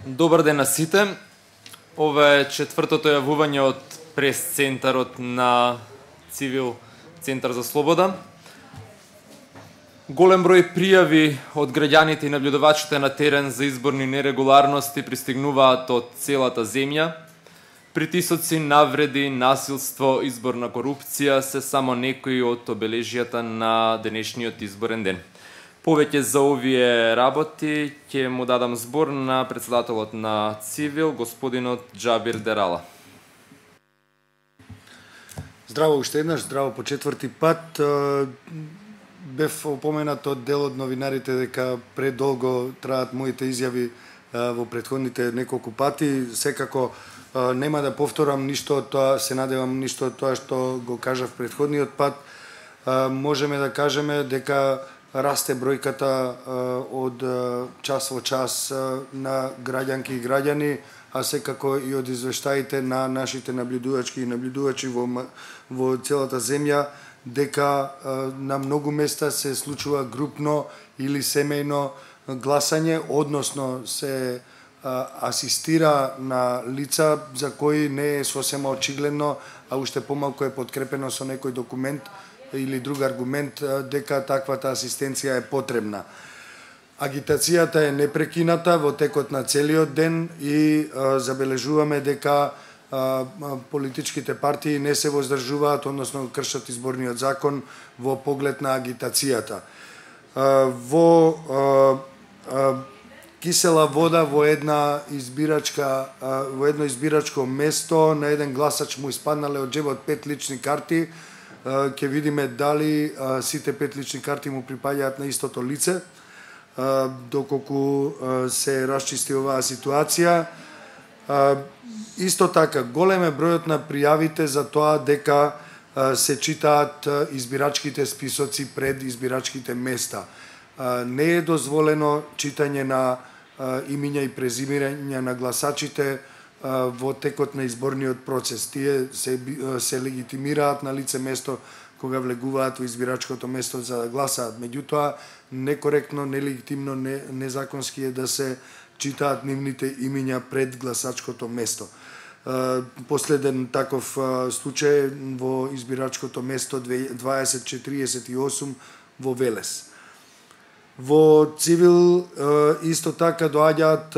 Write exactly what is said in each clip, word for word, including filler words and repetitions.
Добар ден на сите. Ова е четвртото јавување од прес-центарот на Цивил Центар за Слобода. Голем број пријави од граѓаните и наблюдувачите на терен за изборни нерегуларности пристигнуваат од целата земја. Притисоци, навреди, насилство, изборна корупција се само некои од обележјата на денешниот изборен ден. Повеќе за овие работи ќе му дадам збор на председателот на Цивил, господинот Џабир Дерала. Здраво уште еднаш, здраво по четврти пат. Бев опоменат од дел од новинарите дека предолго траат моите изјави во претходните неколку пати. Секако нема да повторам ништо од тоа, се надевам ништо од тоа што го кажав претходниот пат. Можеме да кажеме дека расте бројката од час во час на граѓанки и граѓани, а секако и од извештаите на нашите наблюдувачки и наблюдувачи во, во целата земја, дека на многу места се случува групно или семејно гласање, односно се асистира на лица за кои не е сосема очигледно, а уште помалку е подкрепено со некој документ или друг аргумент дека таквата асистенција е потребна. Агитацијата е непрекината во текот на целиот ден и а, забележуваме дека а, политичките партии не се воздржуваат, односно кршат изборниот закон во поглед на агитацијата. А, во а, а, кисела вода во една избирачка а, во едно избирачко место на еден гласач му испаднале од џебот пет лични карти. Ќе видиме дали а, сите пет лични карти му припаѓаат на истото лице, а, доколку а, се расчисти оваа ситуација. А, исто така, голем е бројот на пријавите за тоа дека а, се читаат избирачките списоци пред избирачките места. А, не е дозволено читање на а, имиња и презимирања на гласачите во текот на изборниот процес. Тие се, се легитимираат на лице место кога влегуваат во избирачкото место за да гласаат. Меѓутоа, некоректно, нелегитимно, не, незаконски е да се читаат нивните имиња пред гласачкото место. Последен таков случај во избирачкото место дваесет четириесет и осум во Велес. Во Цивил исто така доаѓаат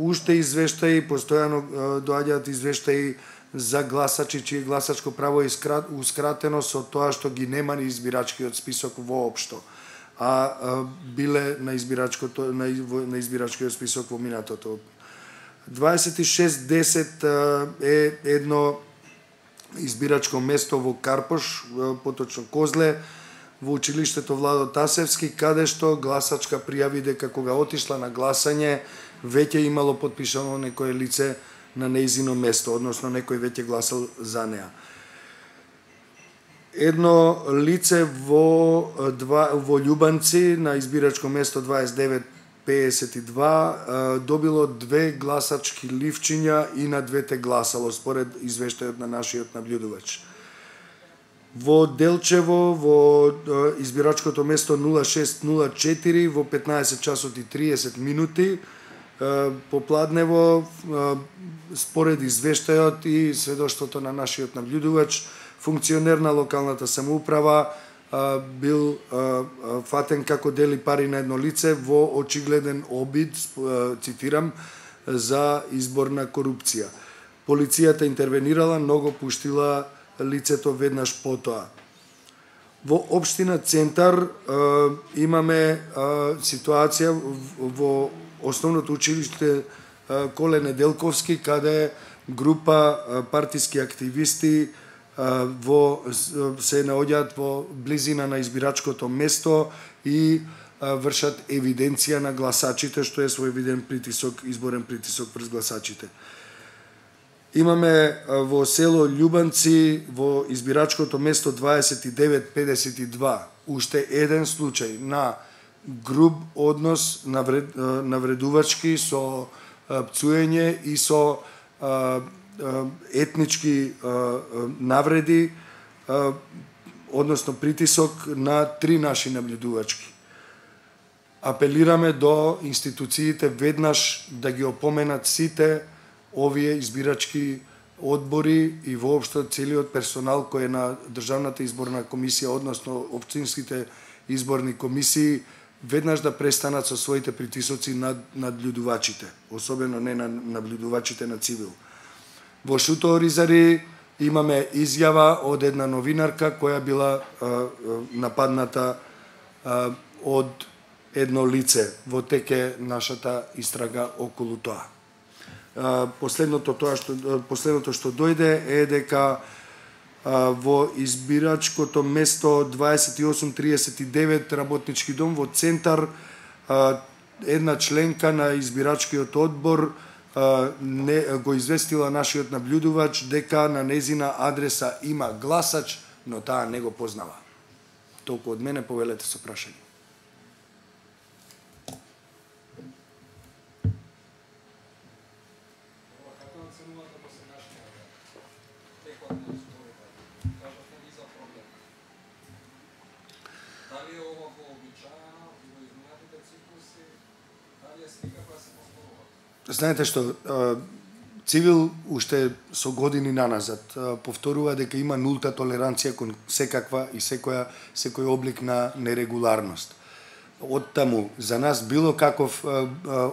уште извештаи, постојано доаѓаат извештаи за гласачи чие гласачко право е ускратено со тоа што ги нема ни избирачкиот список воопшто, а биле на избирачкото на, на избирачкиот список во минатото. дваесет и шест десет е едно избирачко место во Карпош, поточно Козле, во училиштето Владо Тасевски, каде што гласачка пријави дека кога отишла на гласање, веќе имало потпишано некое лице на нејзино место, односно некој веќе гласал за неа. Едно лице во, во Љубанци на избирачко место дваесет девет педесет и два добило две гласачки ливчиња и на двете гласало, според извештајот на нашиот наблюдувач. Во Делчево, во избирачкото место нула шест нула четири, во петнаесет часот и триесет минути, попладнево, според извештајот и сведоштвото на нашиот наблюдувач, функционер на локалната самоуправа бил фатен како дели пари на едно лице во очигледен обид, цитирам, за изборна корупција. Полицијата интервенирала, но го пуштила лицето веднаш потоа. Во општина Центар е, имаме е, ситуација во основното училиште е, Коле Неделковски, каде група е, партиски активисти е, во, се наоѓаат во близина на избирачкото место и е, вршат евиденција на гласачите, што е своевиден притисок, изборен притисок врз гласачите. Имаме во село Љубанци, во избирачкото место дваесет и девет педесет и два, уште еден случај на груб однос навред, навредувачки со пцуење и со етнички навреди, односно притисок на три наши наблюдувачки. апелираме до институциите веднаш да ги опоменат сите овие избирачки одбори и воопшто целиот персонал кој е на Државната изборна комисија, односно општинските изборни комисии, веднаш да престанат со своите притисоци над наблюдувачите, особено не на наблюдувачите на цивил. Во Шуто Оризари имаме изјава од една новинарка која била а, а, нападната а, од едно лице во теке нашата истрага околу тоа. А, последното тоа што последното што дојде е дека а, во избирачкото место дваесет и осум триесет и девет работнички дом во центар, а, една членка на избирачкиот одбор а, не го известила нашиот наблюдувач дека на незина адреса има гласач, но таа не го познава. Толку од мене, повелете со прашање. Знаете што, цивил уште со години наназад повторува дека има нулта толеранција кон секаква и секоја секој облик на нерегуларност. Од таму за нас било каков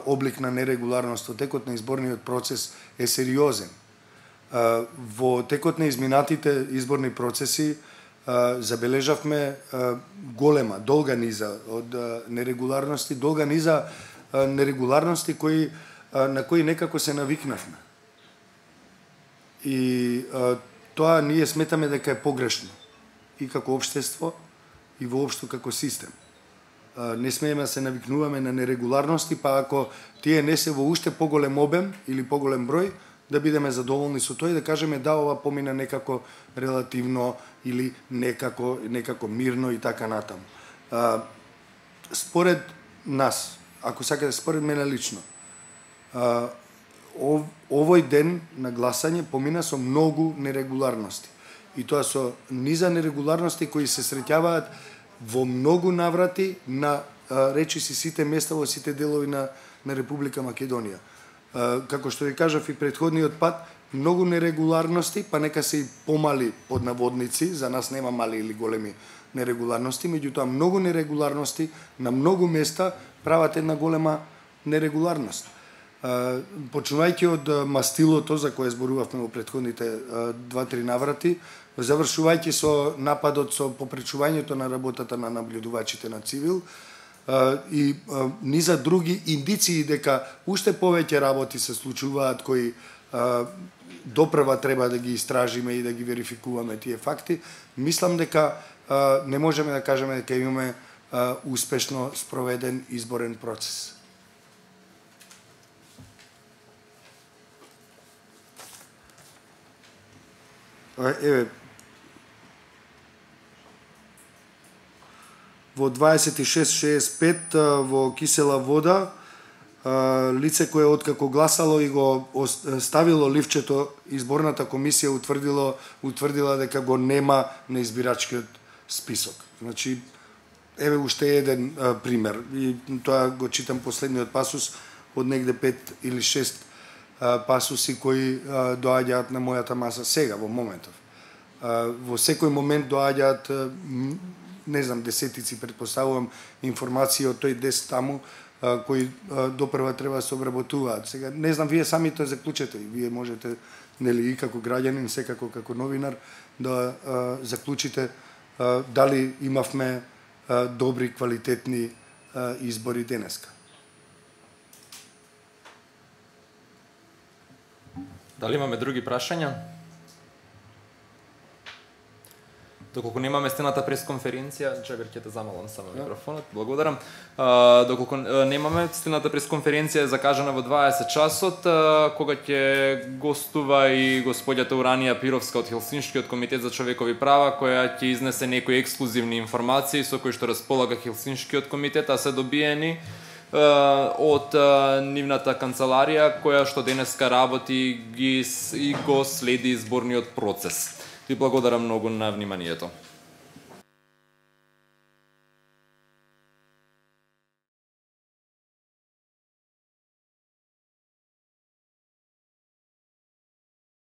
облик на нерегуларност во текот на изборниот процес е сериозен. Во текот на изминатите изборни процеси забележавме голема, долга низа од нерегуларности, долга низа нерегуларности кои на кои некако се навикнавме. И а, тоа ние сметаме дека е погрешно и како општество и воопшто како систем. А, не смееме да се навикнуваме на нерегуларности, па ако тие не се во уште поголем обем или поголем број, да бидеме задоволни со тоа и да кажеме да, ова помина некако релативно или некако некако мирно и така натаму. А, според нас, ако сакате според мене лично, Uh, ов, овој ден на гласање помина со многу нерегуларности. И тоа со низа нерегуларности кои се среќаваат во многу наврати на uh, речиси сите места во сите делови на, на Република Македонија. Uh, како што ви кажав и претходниот пат, многу нерегуларности, па нека се и помали под наводници, за нас нема мали или големи нерегуларности, меѓутоа многу нерегуларности на многу места прават една голема нерегуларност. Почнувајќи од мастилото за кое зборувавме во претходните два-три наврати, завршувајќи со нападот со попречувањето на работата на наблюдувачите на цивил и низа други индиции дека уште повеќе работи се случуваат кои допрва треба да ги истражиме и да ги верификуваме тие факти, мислам дека не можеме да кажеме дека имаме успешно спроведен изборен процес. Еве, во дваесет и шест шеесет и пет во кисела вода, лице кое откако гласало и го ставило ливчето, изборната комисија утврдило, утврдила дека го нема на избирачкиот список. Значи, еве уште еден а, пример, и тоа го читам последниот пасус од негде пет или шест пасуси кои а, доаѓаат на мојата маса сега, во моментов. А, во секој момент доаѓаат, не знам, десетици, предпоставувам, информации од тој дес таму, а, кои а, допрва треба да се обработуваат. Сега, не знам, вие сами тоа заклучете, вие можете, нели, и како граѓанин, секако како новинар, да а, заклучите а, дали имавме а, добри, квалитетни а, избори денеска. Дали имаме други прашања? Доколку немаме стената пресконференција, чекај ќе те замалам само микрофонот. Благодарам. А, доколку немаме стената пресконференција е закажана во дваесет часот, а, кога ќе гостува и господјата Уранија Пировска од Хелсиншкиот комитет за човекови права, која ќе изнесе некои ексклузивни информации со кои што располага Хелсиншкиот комитет, а се добиени од нивната канцеларија која што денеска работи ги и го следи изборниот процес. Ви благодарам многу на вниманието.